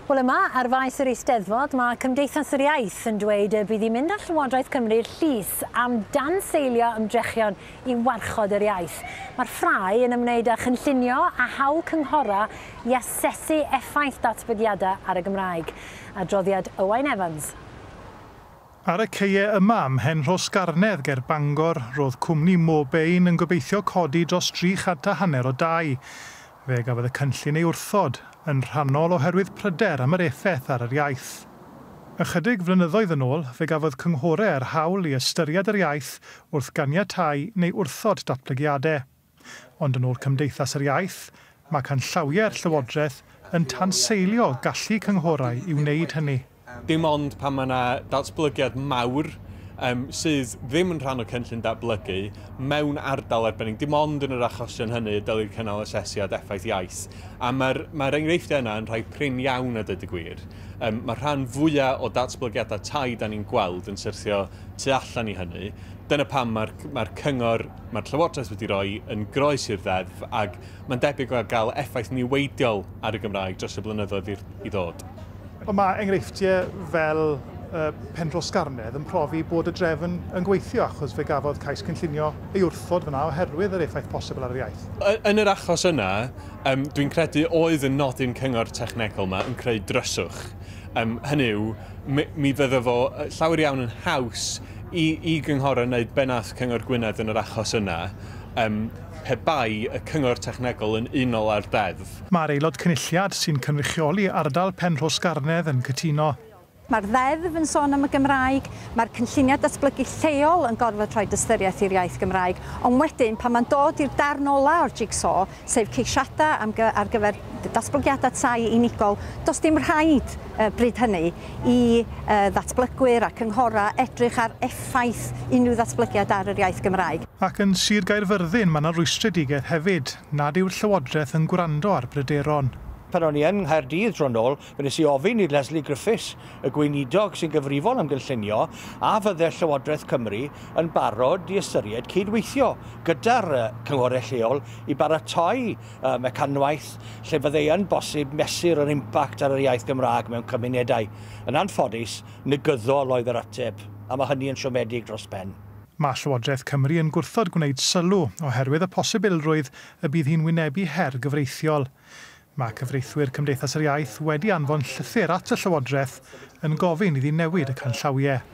Wel yma, ar faes yr Eisteddfod, mae Cymdeithas yr Iaith yn dweud y bydd hi'n mynd â Llywodraeth Cymru i'r llys am danseilio ymdrechion i warchod yr iaith. Mae'r ffrae yn ymwneud â chynllunio a hawl cynghora i asesu effaith datblygiadau ar y Gymraeg. Adroddiad Owain Evans. Ar y caeau yma ym Mhenrhosgarnedd ger Bangor, roedd cwmni Mobein yn gobeithio codi dros 350 o dai. Fe gafodd y cynllun ei wrthod, yn rhannol oherwydd pryder am yr effaith ar yr iaith. Ychydig flynyddoedd yn ôl, fe gafodd cynghorau yr hawl i ystyried yr iaith wrth ganiatáu neu wrthod datblygiadau. Ond yn ôl Cymdeithas yr Iaith, mae canllawiau'r Llywodraeth yn tanseilio gallu cynghorau i wneud hynny. Dim ond pan mae yna datblygiad mawr sydd ddim yn rhan o cynllun datblygu mewn ardal arbennig, dim ond yn yr achosion hynny y dylid cynnal asesiad effaith iaith. A mae'r enghreifftiau yna yn rhai prin iawn a dweud y gwir. Mae'r rhan fwyaf o datblygiadau tai da ni'n gweld yn syrthio tu allan i hynny. Dyna pam mae'r cyngor, mae'r Llywodraeth wedi rhoi yn groes i'r ddeddf ac mae'n debyg o gael effaith niweidiol ar y Gymraeg dros y blynyddoedd i ddod. Ond mae enghreifftiau fel Penrhosgarnedd yn profi bod y drefn yn gweithio achos fe gafodd cais cynllunio ei wrthod fyna oherwydd yr effaith posibl ar yr iaith. Yn yr achos yna, dwi'n credu oedd y nodyn cyngor technegol yma yn creu dryswch. Hynny yw, mi fydde fo llawer iawn yn haws i gynghorau wneud be nath Cyngor Gwynedd yn yr achos yna, pe bai y cyngor technegol yn unol â'r deddf. Mae'r aelod cynulliad sy'n cynrychioli ardal Penrhosgarnedd yn cytuno. Mae'r ddeddf yn sôn am y Gymraeg, mae'r cynlluniau datblygu lleol yn gorfod rhoi ystyriaeth i'r iaith Gymraeg, ond wedyn pan mae'n dod i'r darn ola o'r jigsaw, sef ceisiadau ar gyfer datblygiadau tai unigol, does dim rhaid bryd hynny i ddatblygwyr a cynghorau edrych ar effaith unrhyw ddatblygiad ar yr iaith Gymraeg. Ac yn Sir Gaerfyrddin mae yna rwystredigaeth hefyd nad yw'r Llywodraeth yn gwrando ar bryderon. Pan o'n i yn Nghaerdydd tro nôl, fe nes i ofyn i Lesley Griffiths, y gweinidog sy'n gyfrifol am gynllunio, a fydde Llywodraeth Cymru yn barod i ystyried cydweithio gyda'r cynghorau lleol i baratoi mecanwaith lle fydde yn bosib mesur yr impact ar yr iaith Gymraeg mewn cymunedau. Yn anffodus, negyddol oedd yr ateb, a mae hynny yn siomedig dros ben. Mae Llywodraeth Cymru yn gwrthod gwneud sylw oherwydd y posibilrwydd y bydd hi'n wynebu her gyfreithiol. Mae cyfreithwyr Cymdeithas yr Iaith wedi anfon llythyr at y Llywodraeth yn gofyn iddi newid y canllawiau.